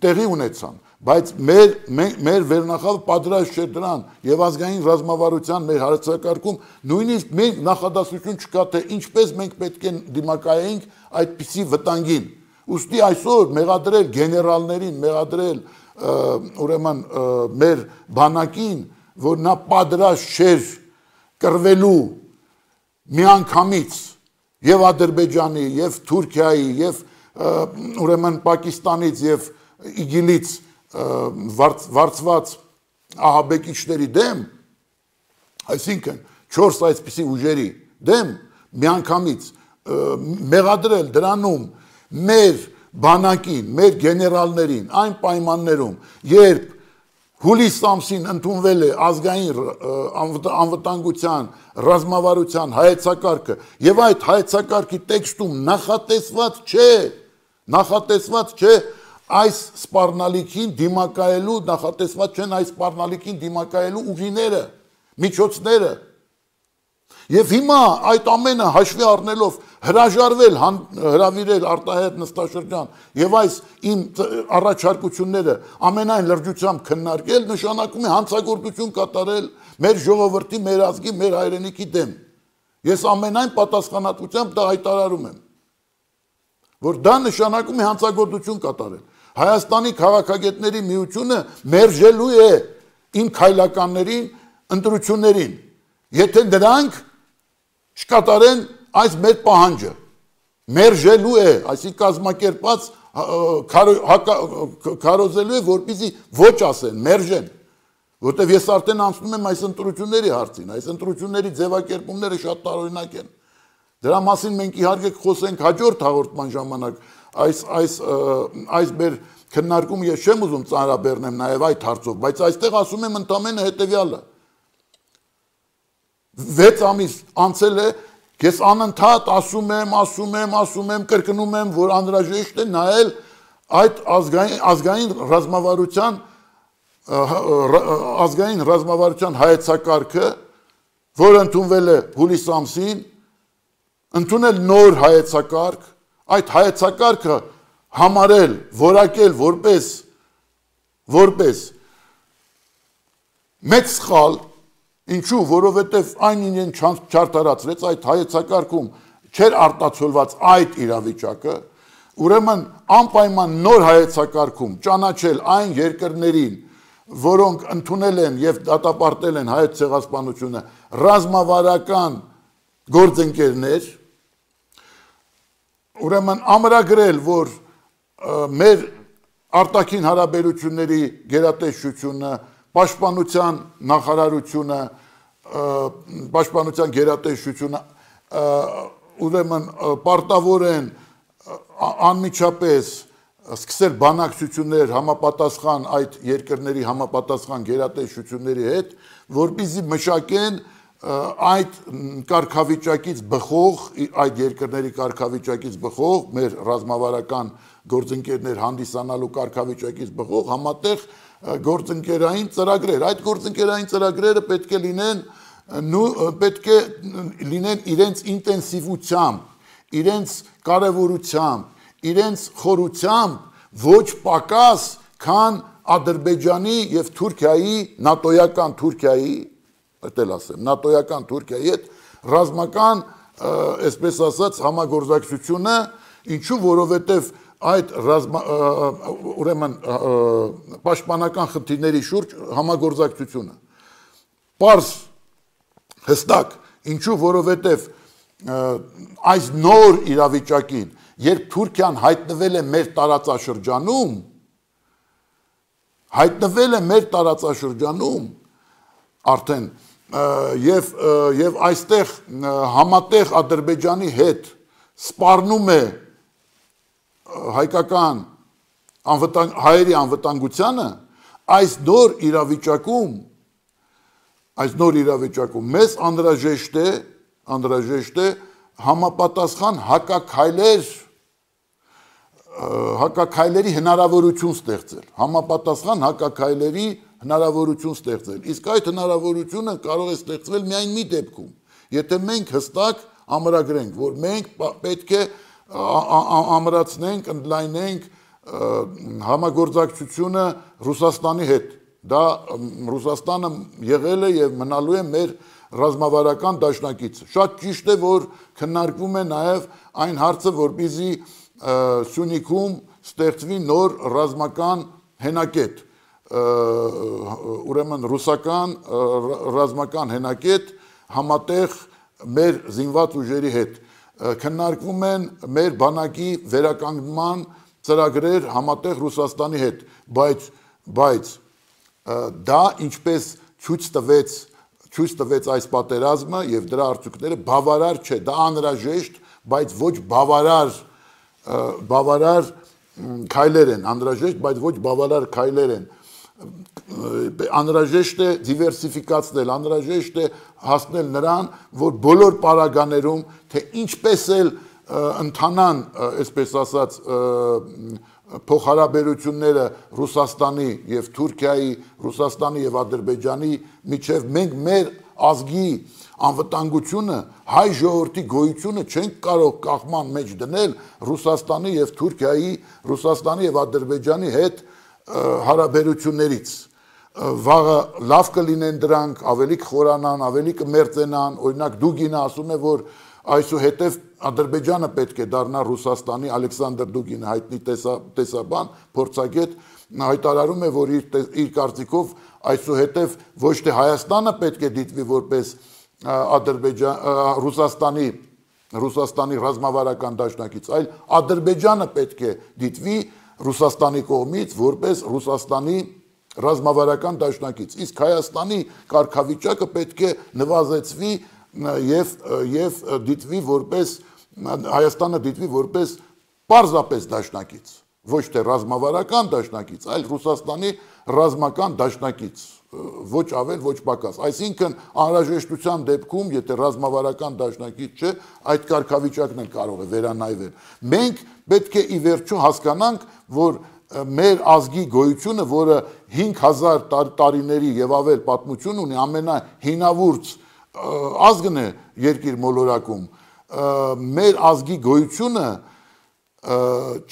տեղի ունեցան, բայց մեր մեր վերնախավը պատրաստ չէ դրան եւ ազգային ռազմավարության մեր հարցակարգում նույնիսկ մենք նախադասություն չկա, թե ինչպես մենք պետք է դիմակայենք այդպիսի վտանգին։ Ուստի այսօր մեղադրել գեներալներին, մեղադրել ուրեմն մեր բանակին, որ նա պատրաստ չէր կռվելու միանգամից եւ Ադրբեջանի, եւ Թուրքիայի, եւ ուրեմն Պակիստանից եւ իգիլից վարձված ահաբեկիչների դեմ, այսինքն չորս այսպիսի ուժերի դեմ միանգամից մեղադրել դրանում մեր բանակին, մեր գեներալներին, այն պայմաններում, երբ հուլիս ամսին ընդունվել է ազգային անվտանգության ռազմավարության հայեցակարգը եւ այդ հայեցակարգի տեքստում նախատեսված չէ, նախատեսված չէ այս սպառնալիքին դիմակայելու, նախատեսված չեն այս սպառնալիքին դիմակայելու ուղիները, միջոցները։ Եվ հիմա այդ ամենը հաշվի առնելով հրաժարվել, հրավիրել արտահայտ նստաշրջան եւ այս իմ առաջարկությունները ամենայն լրջությամբ քննարկել, նշանակում է հանցագործություն կատարել մեր ժողովրդի, մեր ազգի, մեր հայրենիքի դեմ։ Ես ամենայն պատասխանատվությամբ դա հայտարարում եմ, որ դա նշանակում է հանցագործություն կատարել։ Հայաստանի քաղաքագետների միությունը մերժելու է իմ քայլականներին, ընտրություններին, եթե դրանք չկատարեն այս մեր պահանջը, մերժելու է, այսինքն կազմակերպած քարոզելու է, որպեսզի ոչ ասեն, մերժեն, որտեղ ես արդեն անցնում եմ այս ընտրությունների հարցին, այս ընտրությունների ձևակերպումները շատ տարօրինակ են։ Դրա մասին մենք իհարկե խոսենք հաջորդ հաղորդման ժամանակ, այս այս այս մեր քննարկումը ես չեմ ուզում ծանրաբեռնեմ նաև այդ հարցով, բայց այստեղ ասում եմ ընդամենը հետեւյալը։ վեց ամիս անցել է, ես անընդհատ ասում եմ, ասում եմ, ասում եմ, կրկնում եմ, որ անհրաժեշտ է նայել այդ ազգային ազգային ռազմավարության ազգային ռազմավարության հայեցակարգը, որը ընդունվել է հուլիս ամսին, ընդունել նոր հայեցակարգ, այդ հայեցակարգը համարել, որակել որպես որպես մեծ սխալ, ինչու, որովհետև այն իրեն չարդարացրեց այդ հայեցակարգում չէր արտացոլված այդ իրավիճակը, ուրեմն անպայման նոր հայեցակարգում ճանաչել այն երկրներին, որոնք ընդունել են եւ դատապարտել են հայոց ցեղասպանությունը, ռազմավարական գործընկերներ, ուրեմն ամրագրել, որ մեր արտաքին հարաբերությունների գերատեսչությունը, պաշտպանության նախարարությունը, պաշտպանության գերատեսչությունը ուրեմն պարտավոր են անմիջապես սկսել բանակցություններ համապատասխան այդ երկրների համապատասխան գերատեսչությունների հետ, որպեսզի մշակեն այդ կարգավիճակից բխող, այդ երկրների կարգավիճակից բխող, մեր ռազմավարական գործընկերներ հանդիսանալու կարգավիճակից բխող համատեղ գործընկերային ծրագրեր։ Այդ գործընկերային ծրագրերը պետք է լինեն պետք է լինեն իրենց ինտենսիվությամբ, իրենց կարևորությամբ, իրենց խորությամբ ոչ պակաս, քան Ադրբեջանի եւ Թուրքիայի, նատոյական Թուրքիայի, այդել ասեմ, նատոյական Թուրքիայի հետ ռազմական այսպես ասած համագործակցությունը, ինչու որովհետև այդ ուրեմն պաշտպանական խնդիրների շուրջ համագործակցությունը պարզ հստակ, ինչու որովհետև այս նոր իրավիճակին, երբ Թուրքիան հայտնվել է մեր տարածաշրջանում, հայտնվել է մեր տարածաշրջանում, արդեն եւ եւ այստեղ համատեղ Ադրբեջանի հետ սպառնում է հայկական անվտանգ հայերի անվտանգությանը, այս նոր իրավիճակում այս նոր իրավիճակում մեզ անհրաժեշտ է անհրաժեշտ է համապատասխան հակաքայլեր հակաքայլերի հնարավորություն ստեղծել, համապատասխան հակաքայլերի հնարավորություն ստեղծել, իսկ այդ հնարավորությունը կարող է ստեղծվել միայն մի դեպքում, եթե մենք հստակ ամրագրենք, որ մենք պետք է ամրացնենք, ընդլայնենք համագործակցությունը Ռուսաստանի հետ, դա Ռուսաստանը եղել է եւ մնալու է մեր ռազմավարական դաշնակիցը, շատ ճիշտ է, որ քննարկվում է նաեւ այն հարցը, որպեսզի Սյունիքում ստեղծվի նոր ռազմական հենակետ, ուրեմն ռուսական ռազմական հենակետ համատեղ մեր զինված ուժերի հետ, քննարկվում են մեր բանակի վերականգնման ծրագրեր համատեղ Ռուսաստանի հետ, բայց բայց դա ինչպես ցույց տվեց ցույց տվեց այս պատերազմը եւ դրա արդյունքները բավարար չէ, դա անհրաժեշտ, բայց ոչ բավարար բավարար քայլեր են, անհրաժեշտ, բայց ոչ բավարար քայլեր են, անհրաժեշտ է դիվերսիֆիկացնել, անհրաժեշտ է հասնել նրան, որ բոլոր պարագաներում, թե ինչպես էլ ընթանան, այսպես ասած, փոխհարաբերությունները Ռուսաստանի եւ Թուրքիայի, Ռուսաստանի եւ Ադրբեջանի միջև մենք մեր ազգի անվտանգությունը, հայ ժողովրդի գոյությունը չենք կարող կախման մեջ դնել Ռուսաստանի եւ Թուրքիայի, Ռուսաստանի եւ Ադրբեջանի հետ հարաբերություններից։ Վաղը լավ կլինեն դրանք, ավելի կխորանան, ավելի կմերձենան, օրինակ Դուգինը ասում է, որ այսուհետև Ադրբեջանը պետք է դառնա Ռուսաստանի, Ալեքսանդր Դուգինը հայտնի տեսաբան, փորձագետ, հայտարարում է, որ իր, իր կարծիքով այսուհետև ոչ թե Հայաստանը պետք է դիտվի որպես Ադրբեջան, Ռուսաստանի, Ռուսաստանի ռազմավարական դաշնակից, այլ Ադրբեջանը պետք է դիտվի Ռուսաստանի կողմից որպես Ռուսաստանի ռազմավարական դաշնակից, իսկ Հայաստանի կարգավիճակը պետք է նվազեցվի եւ եւ դիտվի որպես Հայաստանը դիտվի որպես պարզապես դաշնակից, ոչ թե ռազմավարական դաշնակից, այլ Ռուսաստանի ռազմական դաշնակից, ոչ ավել, ոչ պակաս, այսինքն անհրաժեշտության դեպքում, եթե ռազմավարական դաշնակից չէ, այդ կարգավիճակն էլ կարող է վերանայվել։ Մենք պետք է ի վերջո հասկանանք, որ մեր ազգի գոյությունը, որը հինգ հազար տարիների եւ ավել պատմություն ունի, ամենահինավուրց ազգն է երկիր մոլորակում, մեր ազգի գոյությունը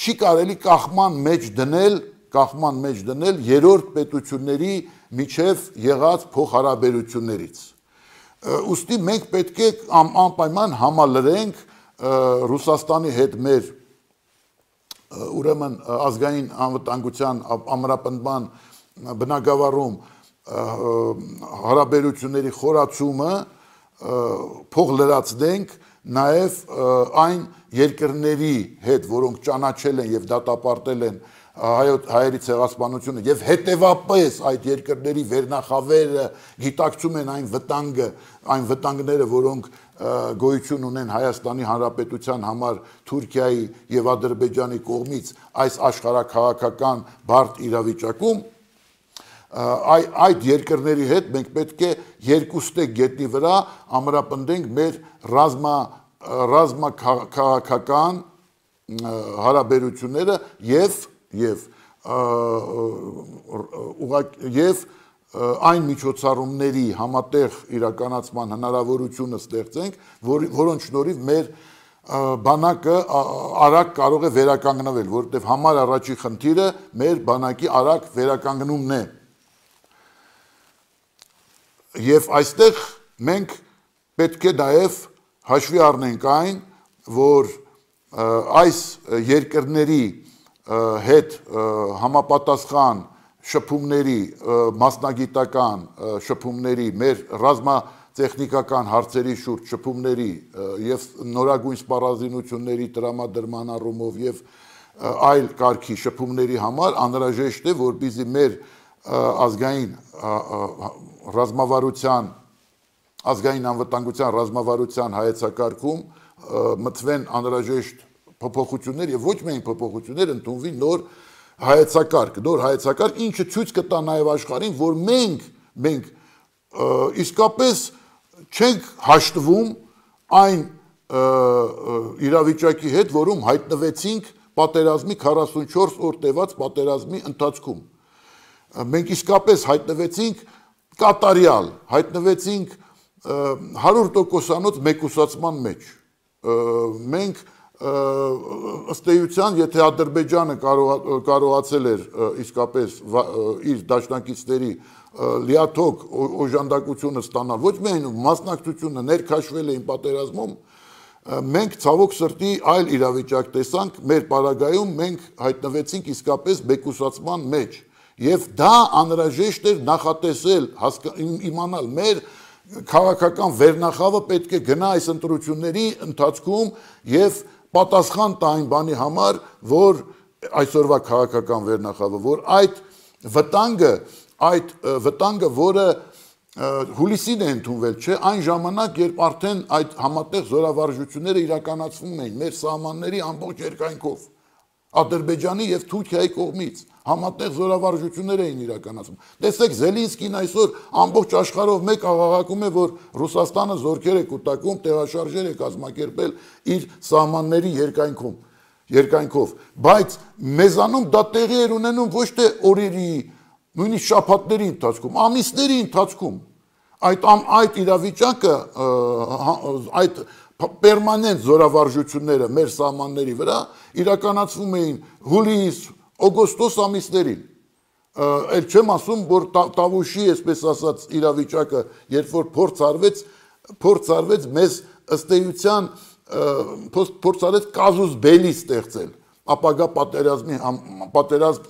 չի կարելի կախման մեջ դնել, կախման մեջ դնել երրորդ պետությունների միջև եղած փոխհարաբերություններից։ Ուստի մենք պետք է անպայման համալրենք Ռուսաստանի հետ մեր ուրեմն ազգային անվտանգության ամրապնդման բնագավառում հարաբերությունների խորացումը փող լրացնենք նաև այն երկրների հետ, որոնք ճանաչել են եւ դատապարտել են հայերի ցեղասպանությունը եւ հետեւապես այդ երկրների վերնախավերը գիտակցում են այն վտանգը, այն վտանգները, որոնք գոյություն ունեն Հայաստանի Հանրապետության համար Թուրքիայի եւ Ադրբեջանի կողմից այս աշխարհաքաղաքական բարդ իրավիճակում, այդ երկրների հետ մենք պետք է երկուստեք գետնի վրա ամրապնդենք մեր ռազմա ռազմաքաղաքական հարաբերությունները եւ եւ եւ այն միջոցառումների համատեղ իրականացման հնարավորությունը ստեղծենք, որ, որոնց շնորհիվ մեր բանակը արագ կարող է վերականգնվել, որովհետև համար առաջի խնդիրը մեր բանակի արագ վերականգնումն է։ Եվ այստեղ մենք պետք է նաև հաշվի առնենք այն, որ այս երկրների հետ համապատասխան շփումների, մասնագիտական շփումների, մեր ռազմատեխնիկական հարցերի շուրջ շփումների եւ նորագույն սպառազինությունների տրամադրման առումով եւ այլ կարգի շփումների համար անհրաժեշտ է, որպեսզի մեր ազգային ռազմավարության, ազգային անվտանգության ռազմավարության հայեցակարգում մտվեն անհրաժեշտ փոփոխություններ եւ ոչ միայն փոփոխություններ, ընդունվի նոր հայեցակարգ, նոր հայեցակարգ, ինչը ցույց կտա նաեւ աշխարհին, որ մենք մենք իսկապես չենք հաշտվում այն իրավիճակի հետ, որում հայտնվեցինք պատերազմի քառասունչորս օր տևած պատերազմի ընթացքում։ Մենք իսկապես հայտնվեցինք կատարյալ, հայտնվեցինք հարյուր տոկոսանոց մեկուսացման մեջ։ Մենք ըստ էության, եթե Ադրբեջանը կարողացել էր իսկապես իր դաշնակիցների լիաթոք օժանդակությունը ստանալ, ոչ միայն մասնակցությունը ներքաշվել էին պատերազմում, մենք ցավոք սրտի այլ իրավիճակ տեսանք, մեր պարագայում մենք հայտնվեցինք իսկապես մեկուսացման մեջ, եւ դա անհրաժեշտ էր նախատեսել, իմանալ մեր քաղաքական վերնախավը պետք է գնա այս ընտրությունների ընթացքում եւ պատասխան տա այն բանի համար, որ այսօրվա քաղաքական վերնախավը, որ այդ վտանգը, այդ վտանգը, որը հուլիսին է ընդունվել, չէ, այն ժամանակ, երբ արդեն այդ համատեղ զորավարժությունները իրականացվում էին մեր սահմանների ամբողջ երկայնքով, Ադրբեջանի եւ Թուրքիայի կողմից համատեղ զորավարժություններ էին իրականացում։ Տեսեք, Զելինսկին այսօր ամբողջ աշխարհով մեկ աղաղակում է, որ Ռուսաստանը զորքեր է կուտակում, տեղաշարժեր է կազմակերպել իր սահմանների երկայնքում, երկայնքով, բայց մեզանում դա տեղի էր ունենում ոչ թե օրերի, նույնիսկ շաբաթների ընթացքում, ամիսների ընթացքում։ Այդ այդ իրավիճակը, այդ պերմանենտ զորավարժությունները մեր սահմանների վրա իրականացվում էին հուլիս, օգոստոս ամիսներին։ Էլ չեմ ասում, որ Տավուշի, այսպես ասած, իրավիճակը, երբ որ փորձ արվեց, փորձ արվեց մեզ ըստ էության փորձ արեց կազուս բելի ստեղծել, ապագա պատերազմի պատերազմ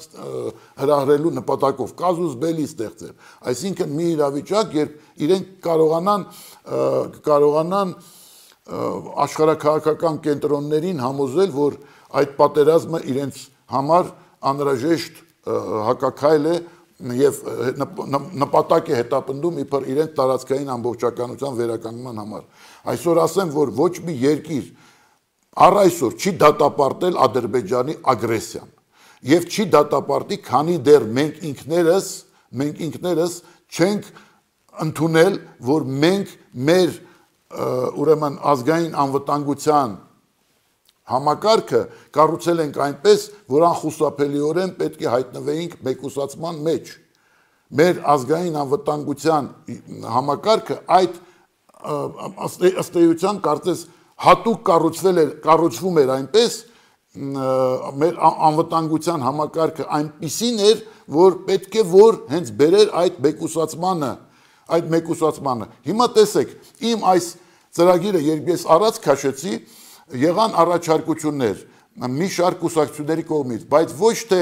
հրահրելու նպատակով կազուս բելի ստեղծել։ Այսինքն մի իրավիճակ, երբ իրենք կարողանան կարողանան աշխարհաքաղաքական կենտրոններին համոզել, որ այդ պատերազմը իրենց համար անհրաժեշտ հակաքայլ է եւ նպատակ է հետապնդում իբր իրենց տարածքային ամբողջականության վերականգնման համար։ Այսօր ասեմ, որ ոչ մի երկիր առ այսօր չի դատապարտել Ադրբեջանի ագրեսիան եւ չի դատապարտի, քանի դեռ մենք ինքներս, մենք ինքներս չենք ընդունել, որ մենք մեր ուրեմն ազգային անվտանգության համակարգը կառուցել ենք այնպես, որ անխուսափելիորեն պետք է հայտնվեինք մեկուսացման մեջ։ Մեր ազգային անվտանգության համակարգը այդ ըստ էության կարծես հատուկ կառուցվել էր, կառուցվում էր այնպես, մեր անվտանգության համակարգը այնպիսին էր, որ պետք է որ հենց բերեր այդ մեկուսացմանը, այդ մեկուսացմանը։ Հիմա տեսեք, իմ այս ծրագիրը երբ ես առաջ քաշեցի, եղան առաջարկություններ մի շարք կուսակցությունների կողմից, բայց ոչ թե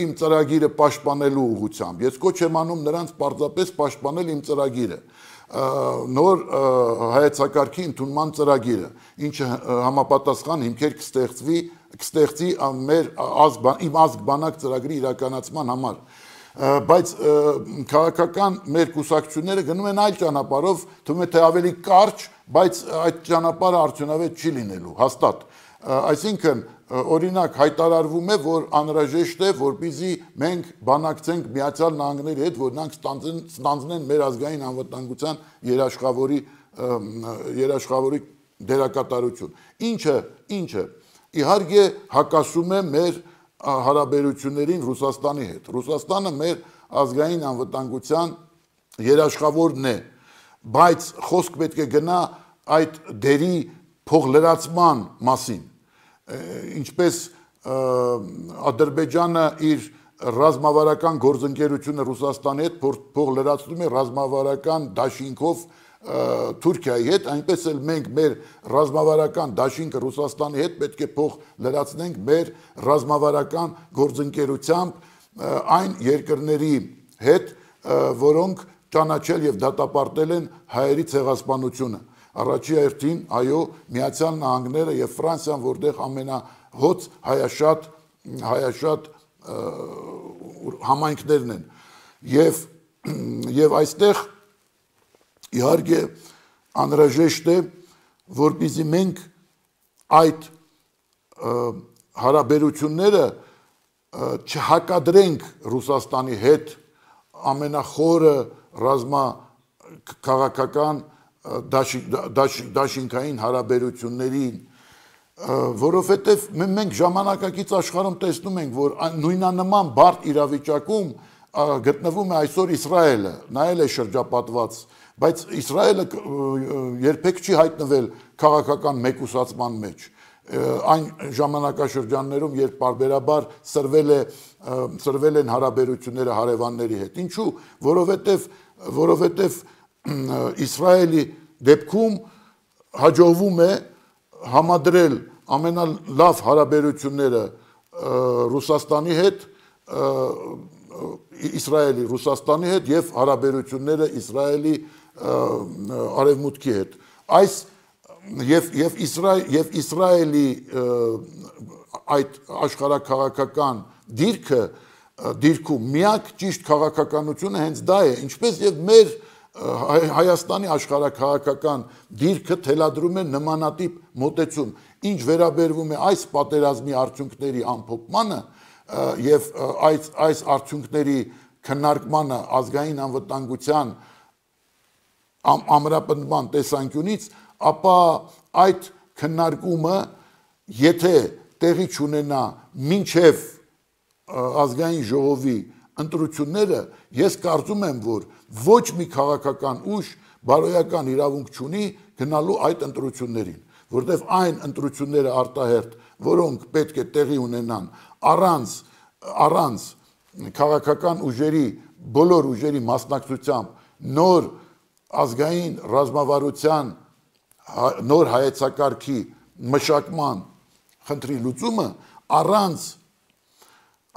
իմ ծրագիրը պաշտպանելու ուղղությամբ։ Ես կոչ եմ անում նրանց պարզապես պաշտպանել իմ ծրագիրը, նոր հայեցակարգի ընդունման ծրագիրը, ինչը համապատասխան հիմքեր կստեղծվի, կստեղծի մեր իմ ազգ բանակ ծրագրի իրականացման համար։ Բայց քաղաքական մեր կուսակցությունները գնում են այլ ճանապարհով, թվում է թե ավելի կարճ, բայց այդ ճանապարհը արդյունավետ չի լինելու, հաստատ։ Այսինքն, օրինակ հայտարարվում է, որ անհրաժեշտ է, որպեսզի մենք բանակցենք Միացյալ Նահանգների հետ, որ նրանք ստանձնեն մեր ազգային անվտանգության երաշխավորի երաշխավորի դերակատարություն։ Ինչը, ինչը իհարկե հակասում է մեր հարաբերություններին Ռուսաստանի հետ։ Ռուսաստանը մեր ազգային անվտանգության երաշխավորն է, բայց խոսք պետք է գնա այդ դերի փոխլրացման մասին, ինչպես Ադրբեջանը իր ռազմավարական գործընկերությունը Ռուսաստանի հետ փոխլրացնում է ռազմավարական դաշինքով Թուրքիայի հետ, այնպես էլ մենք մեր ռազմավարական դաշինքը Ռուսաստանի հետ պետք է փող լրացնենք մեր ռազմավարական գործընկերությամբ այն երկրների հետ, որոնք ճանաչել եւ դատապարտել են հայերի ցեղասպանությունը։ Առաջի հերթին, այո, Միացյալ Նահանգները եւ Ֆրանսիան, որտեղ ամենահոծ հայաշատ հայաշատ համայնքներն են։ Եվ եւ այստեղ իհարկե անհրաժեշտ է, որպեսզի մենք այդ հարաբերությունները չհակադրենք Ռուսաստանի հետ ամենախորը ռազմաքաղաքական դաշինքային հարաբերություններին, որովհետև մենք ժամանակակից աշխարհում տեսնում ենք, որ նույնանման բարդ իրավիճակում գտնվում է այսօր Իսրայելը, նա էլ է շրջապատված, բայց Իսրայելը երբեք չի հայտնվել քաղաքական մեկուսացման մեջ, այն ժամանակաշրջաններում, երբ պարբերաբար սրվել է սրվել են հարաբերությունները հարևանների հետ։ Ինչու՞, որովհետև որովհետև Իսրայելի դեպքում հաջողվում է համադրել ամենալավ հարաբերությունները Ռուսաստանի հետ, Իսրայելի Ռուսաստանի հետ եւ հարաբերությունները Իսրայելի արևմուտքի հետ։ Այս եւ եւ Իսրայել եւ Իսրայելի այդ աշխարհաքաղաքական դիրքը դիրքում միակ ճիշտ քաղաքականությունը հենց դա է, ինչպես եւ մեր Հայաստանի աշխարհաքաղաքական դիրքը թելադրում է նմանատիպ մոտեցում, ինչ վերաբերվում է այս պատերազմի արդյունքների ամփոփմանը եւ այս այս արդյունքների քննարկմանը ազգային անվտանգության ամրապնդման տեսանկյունից, ապա այդ քննարկումը, եթե տեղի չունենա մինչև ազգային ժողովի ընտրությունները, ես կարծում եմ, որ ոչ մի քաղաքական ուժ բարոյական իրավունք չունի գնալու այդ ընտրություններին, որտեղ այն ընտրությունները արտահերթ, որոնք պետք է տեղի ունենան առանց առանց քաղաքական ուժերի, բոլոր ուժերի մասնակցությամբ նոր ազգային ռազմավարության, նոր հայեցակարգի մշակման խնդրի լուծումը, առանց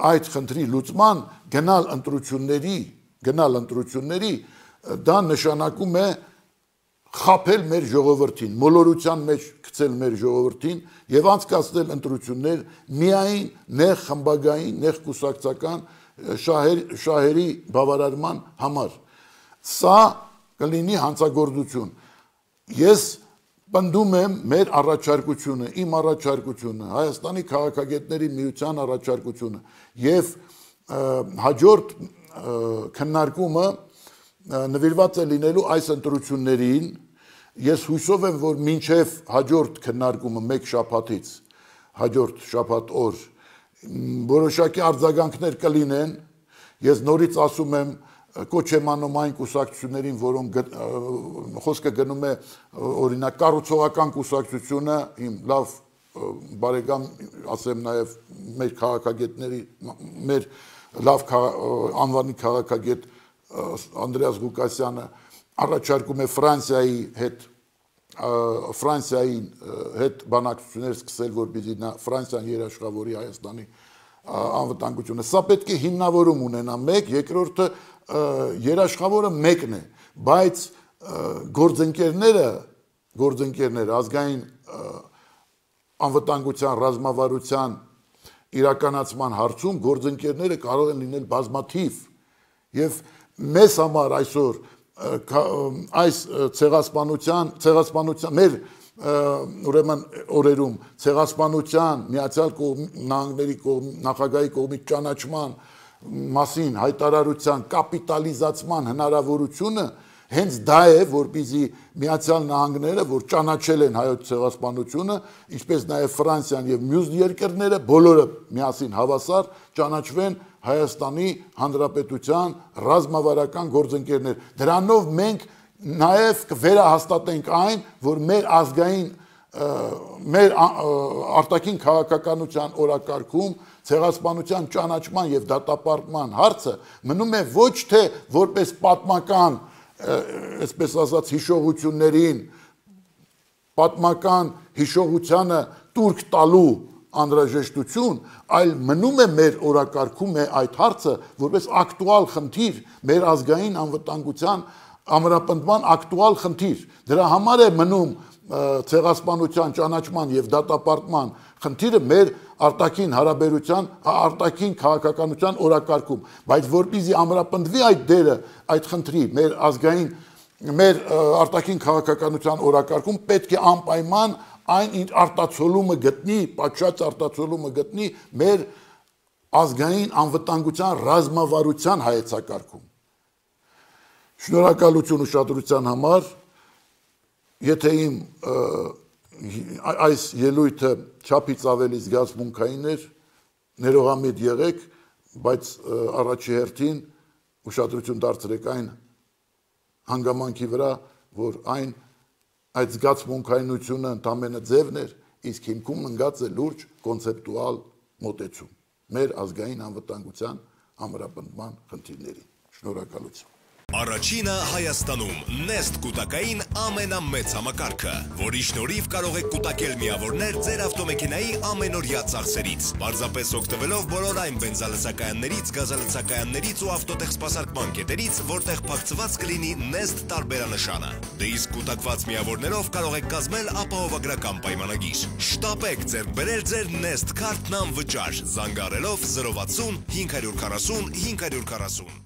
այդ խնդրի լուծման գնալ ընտրությունների, գնալ ընտրությունների, դա նշանակում է խաբել մեր ժողովրդին, մոլորության մեջ գցել մեր ժողովրդին եւ անցկացնել ընտրություններ միայն նեղ խմբագային, նեղ կուսակցական շահեր, շահերի բավարարման համար։ Սա կլինի հանցագործություն։ Ես պնդում եմ մեր առաջարկությունը, իմ առաջարկությունը, Հայաստանի քաղաքագետների միության առաջարկությունը եւ հաջորդ քննարկումը նվիրված է լինելու այս ընտրություններին։ Ես հույսով եմ, որ մինչև հաջորդ քննարկումը մեկ շաբաթից, հաջորդ շաբաթ օր որոշակի արձագանքներ կլինեն։ Ես նորից ասում եմ, կոչ եմ անում այն կուսակցություններին, որոնք խոսքը գնում է օրինակ կառուցողական կուսակցությունը, իմ լավ բարեկամ, ասեմ նաև մեր քաղաքագետների, մեր լավ անվանի քաղաքագետ Անդրեաս Ղուկասյանը առաջարկում է Ֆրանսիայի հետ Ֆրանսիայի հետ բանակցություններ սկսել, որպեսզի նա Ֆրանսիան երաշխավորի Հայաստանի անվտանգությունը։ Սա պետք է հիմնավորում ունենա մեկ, երկրորդը երաշխավորը մեկն է, բայց գործընկերները, գործընկերները ազգային անվտանգության ռազմավարության իրականացման հարցում գործընկերները կարող են լինել բազմաթիվ եւ մեզ համար այսօր այս ցեղասպանության ցեղասպանության մեր ուրեմն օրերում ցեղասպանության Միացյալ Նահանգների նախագահի կողմից ճանաչման մասին հայտարարության կապիտալիզացման հնարավորությունը հենց դա է, որպեսզի Միացյալ Նահանգները, որ ճանաչել են հայոց ցեղասպանությունը, ինչպես նաև Ֆրանսիան եւ մյուս երկրները, բոլորը միասին հավասար ճանաչվեն Հայաստանի Հանրապետության ռազմավարական գործընկերներ։ Դրանով մենք նաև կվերահաստատենք այն, որ մեր ազգային մեր արտաքին քաղաքականության օրակարգում ցեղասպանության ճանաչման եւ դատապարտման հարցը մնում է ոչ թե որպես պատմական այսպես ասած հիշողություններին, պատմական հիշողությանը տուրք տալու անհրաժեշտություն, այլ մնում է մեր օրակարգում է այդ հարցը որպես ակտուալ խնդիր, մեր ազգային անվտանգության ամրապնդման ակտուալ խնդիր։ Դրա համար է մնում ցեղասպանության ճանաչման եւ դատապարտման խնդիրը մեր արտաքին հարաբերության, արտաքին քաղաքականության օրակարգում, բայց որպեսզի ամրապնդվի այդ դերը, այդ խնդրի մեր ազգային մեր արտաքին քաղաքականության օրակարգում պետք է անպայման այն արտացոլումը գտնի, պատշաճ արտացոլումը գտնի մեր ազգային անվտանգության ռազմավարության հայեցակարգում։ Շնորհակալություն ուշադրության համար, եթե իմ այս ելույթը չափից ավելի զգացմունքային էր, ներողամիտ եղեք, բայց առաջի հերթին ուշադրություն դարձրեք այն հանգամանքի վրա, որ այն այդ զգացմունքայնությունը ընդամենը ձևն էր, իսկ հիմքում ընկած է լուրջ կոնցեպտուալ մոտեցում մեր ազգային անվտանգության ամրապնդման խնդիրներին։ Շնորհակալություն։ Առաջինը Հայաստանում նեստ կուտակային ամենամեծ համակարգը, որի շնորհիվ կարող եք կուտակել միավորներ ձեր ավտոմեքենայի ամենօրյա ծախսերից, պարզապես օգտվելով բոլոր այն բենզալցակայաններից, գազալցակայաններից ու ավտոտեխսպասարկման կետերից, որտեղ փակցված կլինի նեստ տարբերանշանը։ Դե իսկ կուտակված միավորներով կարող եք կազմել ապահովագրական պայմանագիր։ Շտապեք ձեռք բերել ձեր նեստ քարտն անվճար, զանգահարելով զրո վաթսուն հինգ հարյուր քառասուն հինգ հարյուր քառասուն։